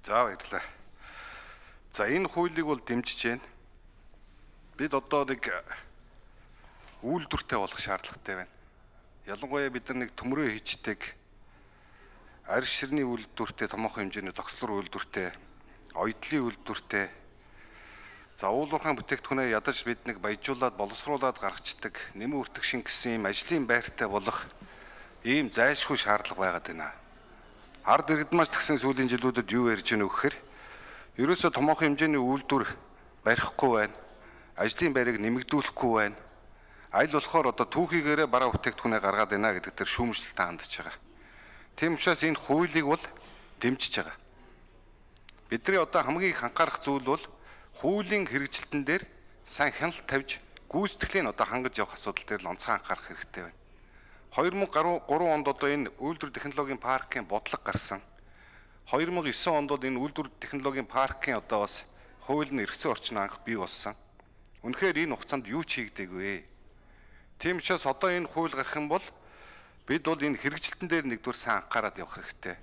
За баярлалаа. За энэ хуулийг бол дэмжиж байна. Бид одоо нэг үйлдвэртэй болох шаардлагатай байна. Ялангуяа бид нар нэг төмрөө хийждэг арьс ширний үйлдвэртэй, томоохон хэмжээний зогслор үйлдвэртэй, оёдлын үйлдвэртэй, за уулуурхайн бүтээгдэхүүнээ ядаж бид нэг баяжуулаад боловсруулад гаргацдаг, нэмэн үртгшин гэсэн ийм ажлын байртай болох ийм зайлшгүй шаардлага байгаад байна. Ард иргэд маш тэгсэн сүүлийн жилүүдэд юу ярьж байна вэ гэхээр ерөөсөө томоохон хэмжээний үйлдвэр барихгүй байна. Ажлын байрыг нэмэгдүүлэхгүй байна. Аль болохоор одоо түүхийгээрээ бараа бүтээгдэхүүнээ гаргаад байна гэдэг тэр шүүмжлэлтэй хандж байгаа. Тийм учраас энэ хуулийг бол дэмжиж байгаа. Бидний одоо хамгийн их анхаарах зүйл бол хуулийн хэрэгжилтэн дээр сайн хяналт тавьж гүйцэтгэлийн одоо хангаж явах асуудал дээр л онцгой анхаарах хэрэгтэй байна. 2003 онд одоо энэ үйлдвэр технологийн паркын бодлого гарсан. 2009 онд бол энэ үйлдвэр технологийн паркын одоо бас хууль нь эргэцэн орчин анх бий болсон. Үнэхээр энэ хугацаанд юу ч хийгдээгүй. Тийм учраас одоо энэ хууль гарах юм бол бид бол энэ хэрэгжилтэн дээр нэгдүгээр сайн анхаарал явах хэрэгтэй.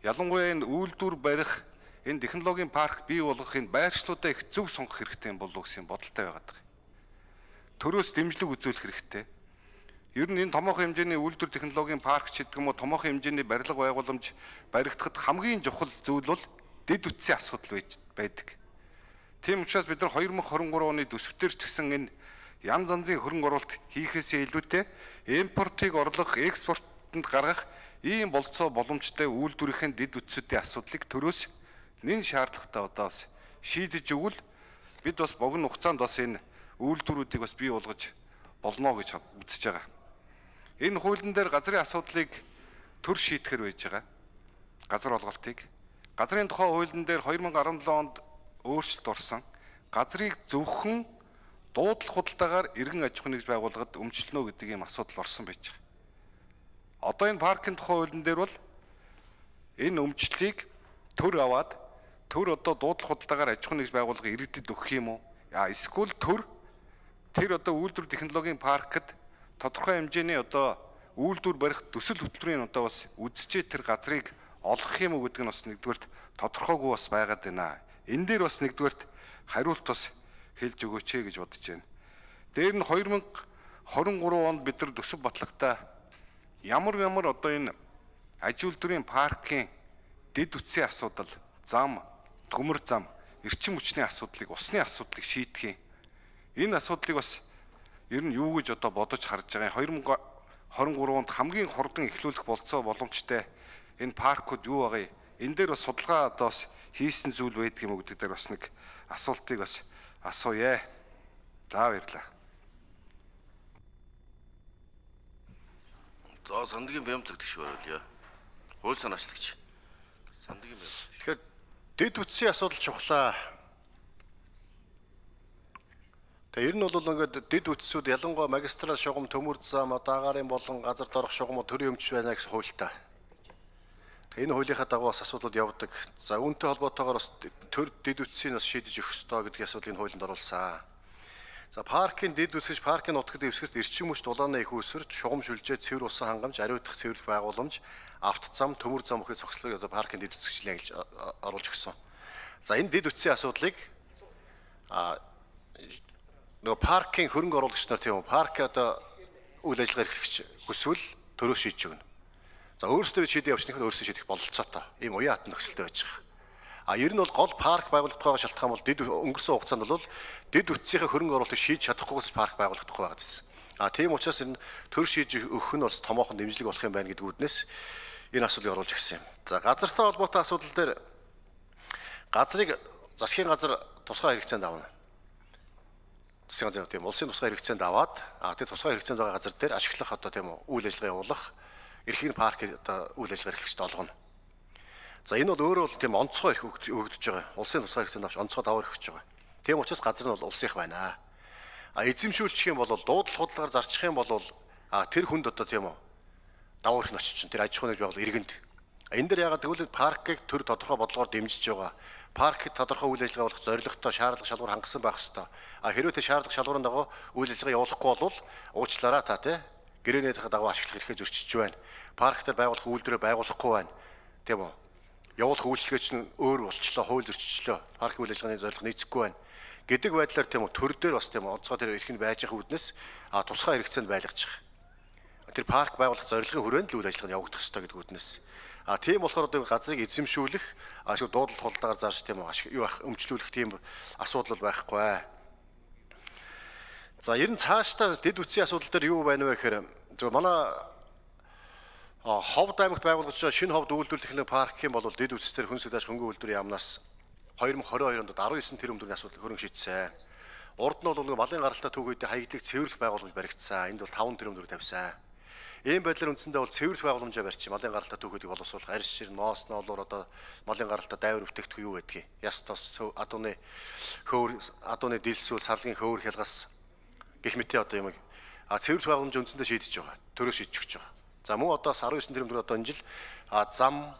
Ялангуяа энэ үйлдвэр барих, энэ технологийн парк бий болгох энэ байршлуудаа их зөв сонгох хэрэгтэй юм болов гэсэн бодолтой байгаад байгаа. Төрөөс дэмжлэг үзүүлэх хэрэгтэй. Ер нь энэ томоохон хэмжээний үйлдвэр технологийн парк ч гэдэг юм уу томоохон хэмжээний барилга байгууламж баригдахад хамгийн чухал зүйл бол дэд үтсийн асуудал байдаг. Тийм учраас бид нар 2023 оны төсвтөр ч гэсэн энэ янз янзын хөрөнгө оруулалт хийхээсээ илүүтэй импортыг орлох, экспортод гаргах ийм болцоо боломжтой үйлдвэрийн дэд үтсүүдийн асуудлыг төрөөс нэн шаардлагатай одоо бас шийдэж өгвөл бид бас богино хугацаанд бас энэ үйлдвэрүүдийг бас бий болгож болно гэж үзэж байгаа. Энэ хуулийн дээр газрын асуудлыг төр шийдэхэр байж байгаа. Газар олголтыг. Газрын тухай хуулийн дээр 2017 онд өөрчлөлт орсон. Газрыг зөвхөн дуудлах худалдаагаар иргэн аж ахуйн нэгж байгууллагад өмчлөнө гэдэг ийм асуудал орсон байж байгаа. Одоо энэ паркын тухай хуулийн дээр бол энэ өмчлөлийг төр аваад төр одоо дуудлах худалдаагаар аж ахуйн нэгж байгууллага иргэдэд өгөх юм уу? Эсвэл төр тэр одоо үйлдвэр технологийн паркт тодорхой хэмжээний одоо үйлдвэр барих төсөл хөтөлбөрийн одоо бас үдсчээ тэр газрыг олгох юм уу гэдэг нь бас нэгдүгээрт тодорхойгүй бас байгаад байна. Энэ дээр бас нэгдүгээрт хариулт бас хэлж өгөөч гэж бодож байна. Дээр нь 2023 онд бид нар төсөв батлагтаа ямар одоо энэ аж үйлдвэрийн паркын дэд үтсийн асуудал, зам, төмөр зам, эрчим хүчний асуудлыг, усны асуудлыг шийдэх юм. Энэ асуудлыг бас ер нь юу гэж одоо бодож харж байгаа юм. 2023 онд хамгийн хурдан эхлүүлэх болцоо боломжтой энэ паркууд юу байгаа юм? Энэ дээр бас судалгаа одоо бас хийсэн зүйл байдаг юм уу гэдэг дээр бас нэг асуултыг бас асууя. За баярлалаа. За Сандгийн Бямцэг гэх байлаа. Хууль санаачлагч. Сандгийн Бямцэг. Тэгэхээр дэд үтсийн асуудал чухлаа. Тэгээ ер нь бол ингээд дэд үтсүүд ялангуяа магистрал шугам, төмөр зам, дагаарын болон газар доорх шугамууд төрийн өмч байна гэсэн хуультай. Энэ хуулийнхаа дагуу бас асуудлууд явдаг. За үүнтэй холбоотойгоор бас төр дэд үтсийг бас шийдэж өгөх ёстой гэдгийг асуудлыг хуулинд оруулсан. За паркын дэд үтсэж паркын нутагт дэвсгэрт эрчим хүч дулааны их үүсвэрт шугам шүлжээ, цэвэр усан хангамж, ариутгах цэвэрлэх байгууламж, автозам, төмөр зам өгөх зогслыг одоо паркын дэд үтсгчлээ гэж оруулж өгсөн. За энэ дэд үтсийн асуудлыг нөгөө паркын хөрөнгө оруулагч нар тийм үү парк одоо үйл ажиллагаа эрхлэгч хүсвэл төрөө шийдэж өгнө. За өөрөөсөө бид шийдээ явуулчихныг өөрөөсөө шийдэх бололцоотой. Ийм уян хатан нөхцөлтэй байж байгаа. Ер нь бол гол парк байгуулах тухайга шалтгаан бол дэд өнгөрсөн хугацаанд бол дэд үтсийнхээ хөрөнгө оруулалтыг шийдэж чадахгүйгээс парк байгуулах тухай байгаад байсан. Тийм учраас энэ төр шийдэж өгөх нь бас томоохон дэмжлэг болох юм байна гэдэг үүднээс энэ асуудлыг оруулж ирсэн юм. За газартай холбоотой асуудал дээр газрыг засгийн газар тусгай хэрэгцээнд авна. Засгийн газар тийм улсын тусгай хэрэгцээнд аваад тэр тусгай хэрэгцээнд байгаа газар дээр ашиглах одоо тийм үйл ажиллагаа явуулах эрхийн парк одоо үйл ажиллагаа эрхлэгчд олгоно. За энэ бол өөрөө бол тийм онцгой эрх өгдөж байгаа. Улсын тусгай хэрэгцээнд авч онцгой даваар өгч байгаа. Тийм учраас газар нь бол улсынх байна. Эзэмшүүлчих юм бол дуудлах худалдаагаар зарчих юм бол тэр хүнд одоо тийм үү давуу эрх нь очиж чинь тэр аж ахуйн нэгж байгууллага иргэнд. Энэ дээр ягаад гэвэл паркыг төр тодорхой бодлогоор дэмжиж байгаа. Паркыг тодорхой үйл ажиллагаа явуулах зорилготой шаардлага шалгуур хангасан байх ёстой. Хэрвээ тэр шаардлага шалгуурын дагуу үйл ажиллагаа явуулахгүй бол уучлаарай та тий гэрээнийхээ дагуу ашиглах эрхээ зөрчиж байна. Парк дээр байгуулах үйлдвэрээ байгуулахгүй байна. Тийм үү? явуулах үйлчлэгээ чинь өөр болчлоо, хууль зөрчилчлөө. Паркийн үйл ажиллагааны зорилго нийцэхгүй байна гэдэг байдлаар тийм үү төр дээр бас тийм үү онцгой тэр эрхэнд байж байгаа үүднээс тусгай хэрэгцээнд байлгаж байгаа. Тэр парк байгуулах зорилгын хүрээнд л үйл ажиллагаа явагдах ёстой гэдэг үүднээс тийм болохоор одоо газрыг эзэмшүүлэх ашиг дуудлага тулдаагаар зааж тийм үү юу байх өмчлүүлэх тийм асуудал байхгүй. За ер нь цаашдаа дэд үтсийн асуудал дээр юу байна вэ гэхээр зөв манай Ховд аймагт байгуулагдаж байгаа шинэ ховд үйлдвэрлэх техникийн паркийн бол дэд үтсээр хүн сүлдэж хөнгөн үйлдвэрийн яамнаас 2022 онд 19 тэрбум төгрөгийн асуудал хөрөнгө шийдсэн. Урд нь бол малын гаралтай түүх үедээ хаягдлыг цэвэрлэх байгууламж баригдсан. Энд бол 5 тэрбум төгрөг тавьсан. Ийм байдлаар үндсэндээ бол цэвэрлэх байгууламжаа барьчих. Малын гаралтай түүхүүдийг боловсруулах, арьс шир, ноос ноолоор одоо малын гаралтай дайвар бүтээгдэхүүн юу байдгийг. Яс тос, адууны хөвөр, адууны дилсүүл, сарлагын хөвөр хялгас гэх мэт одоо юм цэвэрлэх байгууламж үндсэндээ шийдэж байгаа. Төрөө шийдэж өгч байгаа. За мөн одоо 19 тэрбум төгрөг одоо энэ жил зам,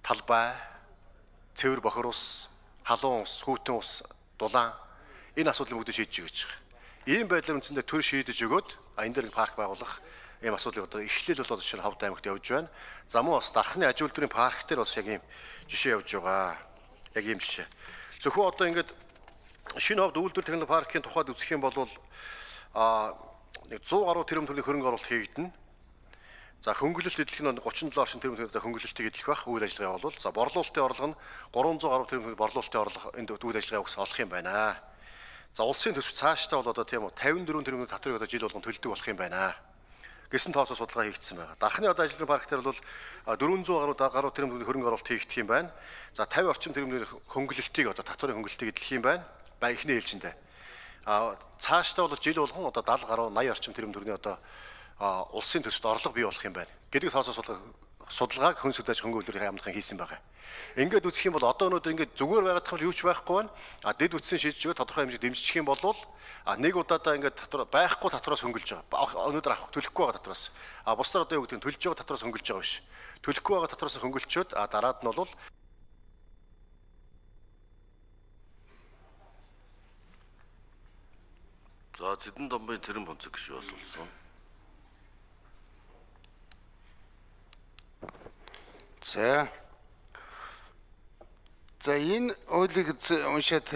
талбай, цэвэр бохор ус, халуун ус, хүйтэн ус, дулаан энэ асуудлыг бүгд шийдэж өгч байгаа. Ийм байдлаар үндсэндээ төр шийдэж өгөөд энэ дээр парк байгуулах ийм асуудлыг одоо эхлэл бол жишээ нь Ховд аймагт явж байна. За мөн бас дархны аж үйлдвэрийн парк дээр бас яг ийм жишээ явж байгаа. Яг ийм жишээ. Зөвхөн одоо ингээд шинэ Ховд үйлдвэр техникийн паркийн тухайд үзэх юм бол 100 гаруй тэрбум төгрөгийн хөрөнгө оруулалт хийгдэнэ. За хөнгөлөлт эдлэх нь 37 орчим тэрбум төгрөгийн хөнгөлөлтийг эдлэх байх үйл ажиллагаа явуул. За борлуулалтын орлого нь 300 гаруй тэрбум төгрөгийн борлуулалтын орлого энд үйл ажиллагаа өгс олох юм байна. За улсын төсөв цаашдаа бол одоо тийм үү 54 тэрбум татварыг одоо жил болгон төлдөг болох юм байна. Гэсэн тоосоо судалгаа хийгдсэн байгаа. Дархны одоо ажлын парк дээр бол 400 гаруй тэрбум төгрөгийн хөрөнгө оруулалт хийгдэх юм байна. За 50 орчим тэрбум төгрөгийн хөнгөлөлтийг одоо татварын хөнгөлөлтийг эдлэх юм байна. Ихний ээлжиндээ. Цаашдаа бол жил болгон одоо 70 гаруй 80 орчим тэрбум төгрөгийн одоо улсын төсөвт орлого бий болох юм байна. Гэдэг тоосоо судалгааг хүн сүлдэж хөнгөн үйлдвэрийн яамнахын хийсэн байгаа. Ингээд үзэх юм бол одоо өнөөдөр ингээд зүгээр байгаад тахад юу ч байхгүй байна. Дэд үтсийн шийдэж өгөө тодорхой хэмжээ дэмжих юм бол нэг удаадаа ингээд татвар байхгүй татвараас хөнгөлж байгаа. Өнөөдөр авах төлөхгүй байгаа татвараас. Бусдаар одоо юу гэдэг нь төлж байгаа татвараас хөнгөлж байгаа биш. Төлөхгүй байгаа татвараас хөнгөлчөөд дараад нь бол За Зэдэн домбын тэрэн бонцог гişүү асуулсан. За энэ ойлыг уншаад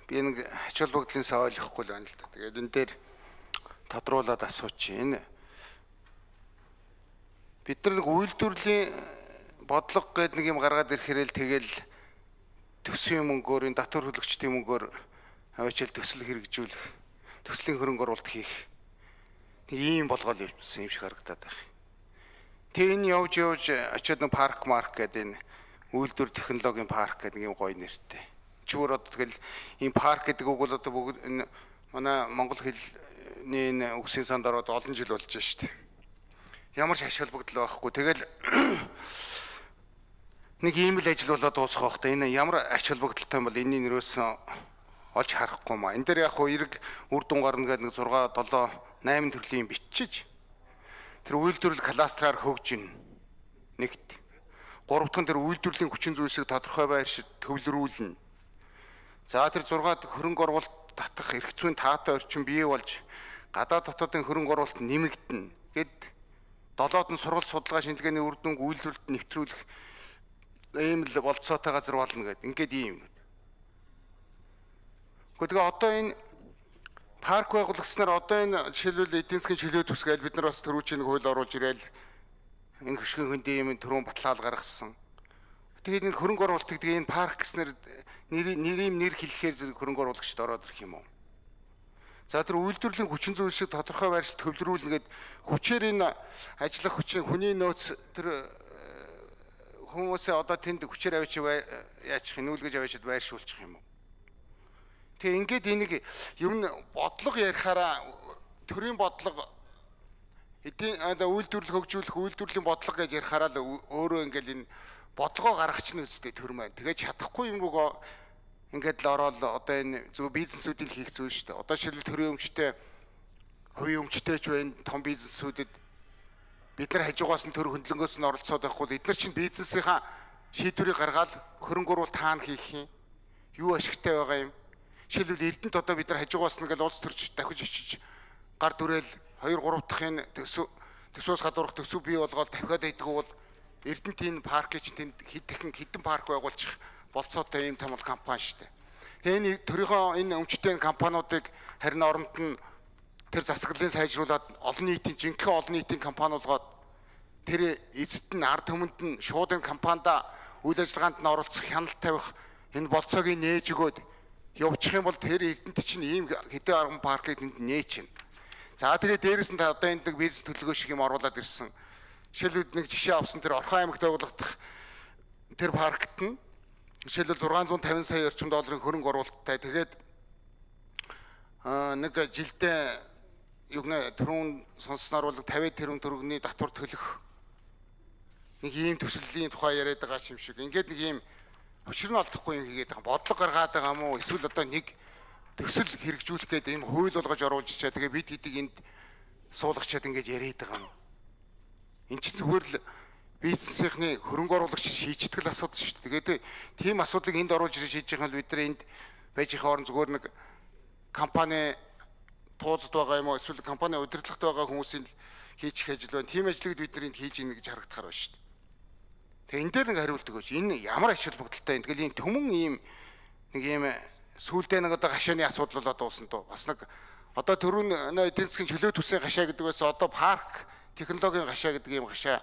би нэг ач холбогдлын сав ойлгохгүй л байна л да. Тэгээд энэ дээр тодруулаад асуучих. Энэ бид нар нэг үйлдвэрлэлийн бодлого гэдэг нэг юм гаргаад ирэхээр л тэгэл төсвийн мөнгөөр энэ татвар төлөгчдийн мөнгөөр аваачаал төсөл хэрэгжүүлэх, төслийн хөрөнгө оруулалт хийх нэг ийм болгоод явуулсан юм шиг харагдаад байна. Тэг энэ явж очиод нэг парк марк гэдэг энэ үйлдвэр технологийн парк гэдэг юм гоё нэртэй. Чүгээр одоо тэгэл энэ парк гэдэг үг бол одоо бүгд энэ манай монгол хэлний энэ үгсийн санд ороод олон жил болж байна шүү дээ. Ямар ч ач холбогдол байхгүй. Тэгэл нэг ийм л ажил болоод дуусах байх та. Энэ ямар ач холбогдолтой юм бол энэний нэрөөс олж харахгүй маа. Энэ дээр яг хуу эрг үр дүн гарна гэдэг нэг 6, 7, 8 төрлийн бичиж тэр үйлдвэрлэл кластраар хөгжинэ. Нэгт. Гуравдах нь тэр үйлдвэрлэлийн хүчин зүйлсийг тодорхой байршид төвлөрүүлнэ. За тэр 6-д хөрөнгө оруулалт татах эрх зүйн таатай орчин бий болж гадаад дотоодын хөрөнгө оруулалт нэмэгдэнэ. Гэд 7-д нь сургалт судалгаа шинжилгээний үр дүнг үйлдвэрлэлд нэвтрүүлэх ийм л болцоотой газар болно гэдэг. Ингээд ийм юм. Гэхдээ одоо энэ парк байгуулгаснаар одоо энэ жишээлбэл эдийн засгийн чөлөө төсгээл бид нар бас төрүүчийн нэг хууль оруулж ирээл энэ хөшгөн хөндийн юм түрүүн баталгаал гаргасан. Тэгээд энэ хөрөнгө оруулалт гэдэг энэ парк гэснээр нэр хэлэхээр хөрөнгө оруулагчд ороод ирэх юм уу? За тэр үйлдвэрлэлийн хүчин зүйлсийг тодорхой байршилд төвлөрүүлнэ гэд хүчээр энэ ажиллах хүчин хүний нөөц тэр хүмүүсээ одоо тэнд хүчээр авчиж яачих нүүлгэж авчиж байршуулчих юм уу? Тэгээ ингээд энийг ер нь бодлого ярихаараа төрийн бодлого эдийн үйлдвэрлэл хөгжүүлэх үйлдвэрлэлийн бодлого гэж ярихаараа л өөрөө ингээд энэ бодлогоо гаргач нь үстэй төр маань. Тэгээ чадахгүй юм руугаа ингээд л ороод одоо энэ зөв бизнесүүдийг хийх зүйл шүү дээ. Одоо шилбэл төрийн өмчтэй, хувийн өмчтэй ч байна, том бизнесүүдэд бид нар хажуугаас нь төр хөндлөнгөөс нь оролцоод байхгүй. Эдгээр чинь бизнесийнхаа шийдвэрийг гаргаад хөрөнгө оруулалт хаана хийх юм? Юу ашигтай байгаа юм? Жишээлбэл Эрдэнэт одоо бид нар хажуугаас нь ингээл улс төрч дахиж очиж гар дүрээл 2, 3 дахь энэ төсвөөс гадуурх төсөв бий болгоод дахиад идэггүй бол Эрдэнтийн паркийг чинь тэнд хідэн парк байгуулчих болцоотой ийм том компани шүү дээ. Тэгээ энэ төрийнхөө энэ өмчтэй компаниудыг харин оронд нь тэр засаглалын сайжруулад олон нийтийн жинхэнэ олон нийтийн компани болгоод тэр эзэд нь ард түмэнд нь шууд энэ компанида үйл ажиллагаанд нь оролцох хяналт тавих энэ болцоог нээж өгөөд явуучих юм бол тэр эрдэнэт чинь ийм хэдэн арган паркыг тэнд нээчихнэ. За тэгээ дээрэс нь одоо энэ бизнес төлөвлөгөө шиг юм оруулаад ирсэн. Жишээлбэл нэг жишээ авсан тэр Орхон аймагт байгуулагдах тэр паркт нь жишээлбэл 650 сая орчим долларын хөрөнгө оруулалттай. Тэгээд нэг жилдээ югнэ түрүүн сонссноор бол 50 тэрбум төгрөгийн татвар төлөх нэг ийм төслийн тухай яриад байгаа юм шиг. Ингээд нэг ийм өчр нь олдохгүй юм хийгээд байгаа. Бодлого гаргаад байгаа мó эсвэл одоо нэг төсөл хэрэгжүүлэх гэдэг ийм хууль болгож оруулж чаа. Тэгээ бид хэдийг энд суулгачаад ингэж яриад байгаа юм. Энд чинь зүгээр л бизнесийнхний хөрөнгө оруулагч шийддэг асуудал шүү дээ. Тэгээд тийм асуудлыг энд оруулж ирж хийж байгаа нь бид нар энд байж их орон зүгээр нэг компани тууцд байгаа юм уу эсвэл компани удирдлагт байгаа хүмүүсийн хийчих ажил байна. Тийм ажлыг бид нар энд хийж ийн гэж харагдахаар байна шүү дээ. Тэгээ энэ дээр нэг хариулт өгөөч. Энэ ямар ач холбогдолтой юм. Тэгэл энэ төмөн ийм нэг ийм сүүлдээ нэг одоо гашааны асуудал болоод дуусна тоо. Бас нэг одоо түрүүн эдийн засгийн чөлөө төсвийн гашаа гэдэг байсан одоо парк технологийн гашаа гэдэг ийм гашаа.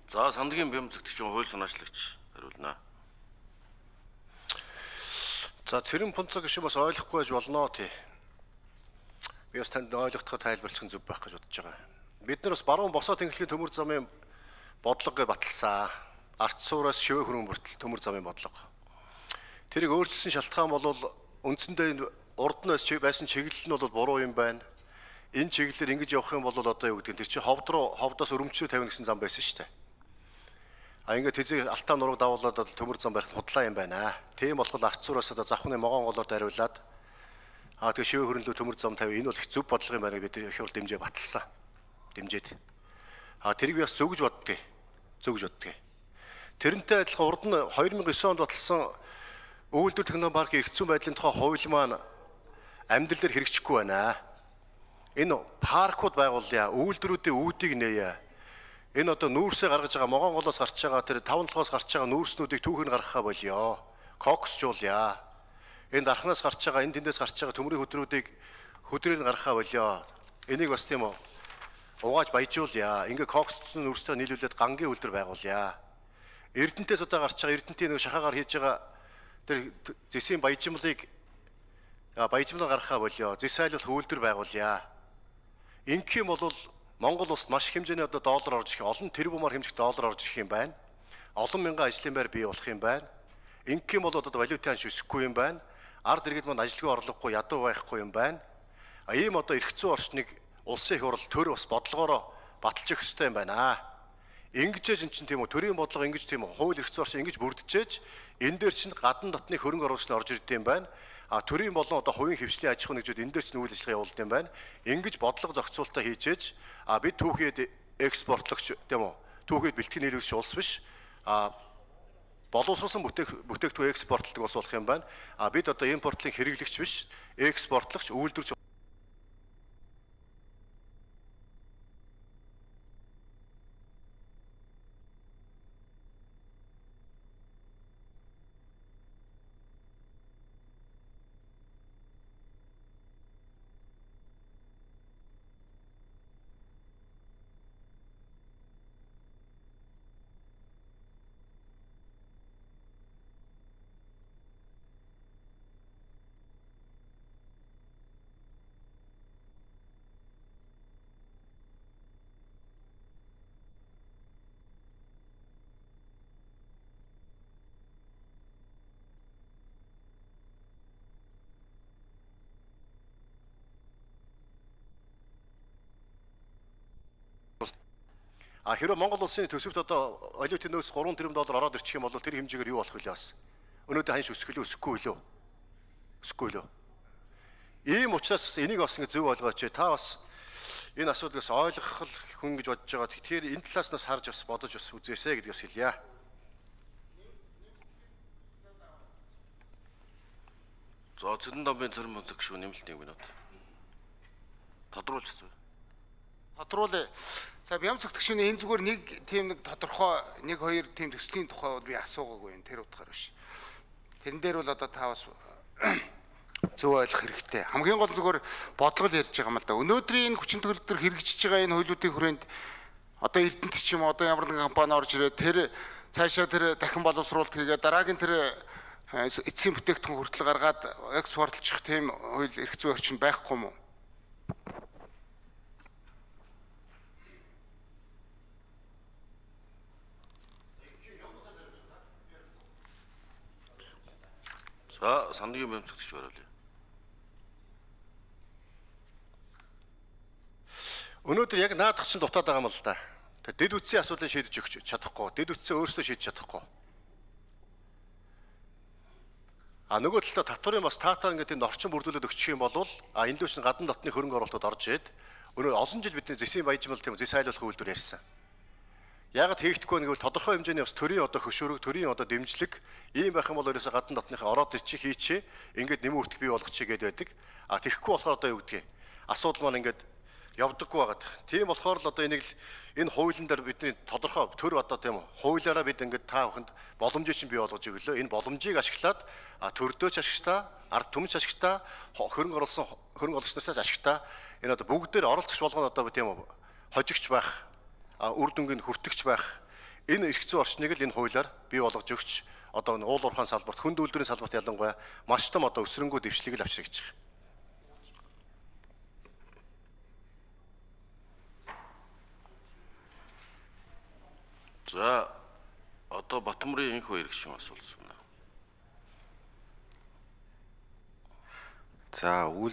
За Сандгийн бям зэгтгчийн хууль санаачлагч хариулнаа. За Цэрэн Пунцаг гişүн бас ойлгохгүй байж болно тий. Би бас танд ойлгоход тайлбарлах нь зөв байх гэж бодож байгаа. Бид нар бас баруун босоо тэнхлэгийн төмөр замын бодлого баталсан. Арц суураас шивэ хөрөнгө бүртэл төмөр замын бодлого. Тэрийг өөрчилсөн шалтгаан бол үндсэндээ урд нь байсан чиглэл нь бол буруу юм байна. Энэ чиглэлээр ингэж явах юм бол одоо юу гэдэг нь тэр чинь ховдоос өрөмчлөө тавина гэсэн зам байсан шүү дээ. Ингээд тэзээ алтаа нураг давуулаад төмөр зам барих худлаа юм байна. Тийм болохоор арцуураас одоо завхны могоон голоор дариулаад тэгээ шивэ хөрөнлөө төмөр зам тавь. Энэ бол их зөв бодлого юм байна бид их хурд дэмжээ баталсан. Дэмжээд. Тэрийг би бас зөв гэж боддгийг. Зөв гэж боддгийг. Тэрнтэй адилхан урд нь 2009 онд баталсан Өвөлдөр технопаркийн эрх зүйн байдлын тухай хууль маань амьдрал дээр хэрэгжихгүй байна. Энэ паркууд байгуулъя, өвөлдрүүдийн үүдийг нээе. Энэ одоо нүүрсээ гаргаж байгаа Могонголоос гарч байгаа тэр 5-7-оос гарч байгаа нүүрснүүдийг түүхээр гаргахаа болёо. Коксжуулъя. Энэ дархнаас гарч байгаа, энэ тэндээс гарч байгаа төмрийн хөдрүүдийг хөдрөөр нь гаргахаа болёо. Энийг бас тийм үү угааж баяжуулъя. Ингээ коксцсон нүүрстэй нийлүүлээд гангийн үлдэр байгуулъя. Эрдэнтээс одоо гарч байгаа Эрдэнтийн нэг шахаагаар хийж байгаа тэр зэсийн баяжмлыг баяжмлаар гаргахаа болёо. Зэс айлуулах үйлдвэр байгуулъя. Ингэх юм бол Монгол улсад маш их хэмжээний одоо доллар орж ирэх, олон тэрбумаар хэмжих доллар орж ирэх юм байна. Олон мянган ажлын байр бий болох юм байна. Ингэх юм бол одоо валютын ханш өсөхгүй юм байна. Ард иргэд маань ажилгүй орлогогүй, ядуу байхгүй юм байна. Ийм одоо эрх зүйн орчныг улсын их хурл төр бас бодлогоороо баталж өгөх ёстой юм байна. Ингэжээж эн чинь тийм үү төрийн бодлого ингэж тийм үү хууль эрх зүйн орчин ингэж бүрдчихэж энэ дээр чинь гадна дотны хөрөнгө оруулагч нь орж ирд юм байна. Төрийн болон одоо хувийн хвшлийн аж ахуй нэгжүүд энэ дээр чинь үйл ажиллагаа явуулдаг юм байна. Ингэж бодлого зохицуулалтаа хийжээж бид түүхэд экспортлогч тийм үү түүхэд бэлтгэн нийлүүлэгч улс биш боловсруулсан бүтээгдэхүүн экспортлдог улс болох юм байна. Бид одоо импортлын хэрэглэгч биш экспортлогч үйлдвэрч хэрвээ Монгол улсын төсөвт одоо валютын нөөц 3 тэрбум доллар ороод ирчих юм бол тэр хэмжээгээр юу болох вэ бас? Өнөөдөр ханш өсгөлөө өсөхгүй лөө? Өсөхгүй лөө? Ийм учраас энийг бас ингэ зөв ойлгооч. Та бас энэ асуудлаас ойлгох хүн гэж бодож байгаа. Тэгэхээр энэ талаас нас харж бас бодож бас үзээсэй гэдгээс хэлье. За Цэрэн Домбын Цэрэн Пунцаг шүү нэмэлт 1 минут. Тодруулж хэвчээ. тодруулъя. За бям зөвтгчний энэ зүгээр нэг тийм нэг тодорхой нэг хоёр тийм төслийн тухай бол би асуугаагүй энэ тэр утгаар биш. Тэрэн дээр бол одоо та бас зөв ойлгох хэрэгтэй. Хамгийн гол зүгээр бодлого ярьж байгаа юм л да. Өнөөдрийн энэ хүчин төгөлдөр хэрэгжиж байгаа энэ хуулиудын хүрээнд одоо Эрдэнэт ч юм одоо ямар нэгэн компани орж ирээд тэр цаашаа тэр дахин боловсруулалт хийгээд дараагийн тэр эцсийн бүтээгдэхүүн хүртэл гаргаад экспортлчих тийм хууль эрх зүйн орчин байхгүй юм уу? За сангийн бям зөвтгч бариулъя. Өнөөдөр яг наадах чинь дутаад байгаа юм л да. Дэд үтсийн асуудлыг шийдэж өгч чадахгүй. Дэд үтсээ өөрсдөө шийдэж чадахгүй. Нөгөө талдаа татварын бас таатаа ингээд энэ орчин бүрдүүлээд өгчих юм бол энд дэвш гадна дотны хөрөнгө оруулалтууд орж ирээд өнөө олон жил бидний зэсийн баяжмал тийм зэс айлуулах үйлдвэр ярьсан. Яагаад хийгдэхгүй нэгвэл тодорхой хэмжээний бас төрийн одоо хөшөөрөг, төрийн одоо дэмжлэг ийм байх юм бол ерөөсө гадна дотныхаа ороод ирчих хийчээ ингээд нэмэн үртэх бий болгочихъя гэдэг байдаг. Тэгэхгүй болохоор одоо юу гэдгийг асуудал маань ингээд явдаггүй байгаад. Тийм болохоор л одоо энийг л энэ хуулийн дээр бидний тодорхой төр одоо тийм хуулиараа бид ингээд та бүхэнд боломжийг чинь бий болгож өглөө. Энэ боломжийг ашиглаад төрдөөч ашигтаа, ард түмч ашигтаа, хөрөнгө оруулагчнаасаас ашигтаа энэ одоо бүгдээр оролцогч болгоно одоо тийм хожигч байх, үр дүнгийн хүртэгч байх энэ эрх зүйн орчныг л энэ хуулиар бий болгож өгч одоо уул уурхайн салбарт, хүнд үйлдвэрийн салбарт ялангуяа маш том одоо өсрөнгөө дэвшлийг л авчирч байгаа. За одоо Батмөрийн энх хоёр гишүүн асуулсан. За үйл